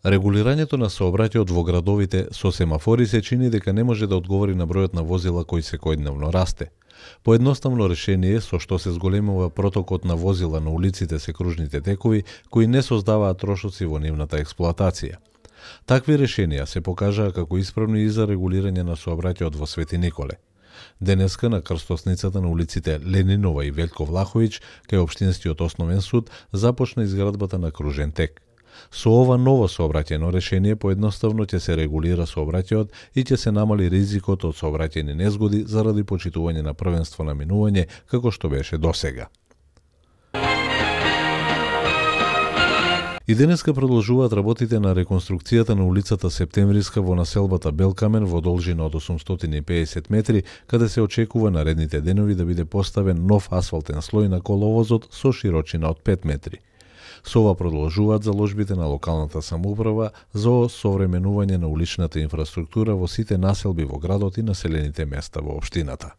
Регулирањето на сообраќајот во градовите со семафори се чини дека не може да одговори на бројот на возила кои секојдневно расте. Поедноставно решение со што се зголемува протокот на возила на улиците се кружните текови кои не создаваат трошоци во нивната експлоатација. Такви решенија се покажаа како исправни и за регулирање на сообраќајот во Свети Николе. Денеска на крстосницата на улиците Ленинова и Велјко Влаховиќ кај Општинскиот основен суд започна изградбата на кружен тек. Со ова ново сообраќајно решение поедноставно ќе се регулира сообраќајот и ќе се намали ризикот од сообраќајни незгоди заради почитување на првенство на минување како што беше досега. И денеска продолжуваат работите на реконструкцијата на улицата Септемвриска во населбата Белкамен во должина од 850 метри, каде се очекува наредните денови да биде поставен нов асфалтен слој на коловозот со широчина од 5 метри. Со ова продолжуваат заложбите на локалната самоуправа за осовременување на уличната инфраструктура во сите населби во градот и населените места во општината.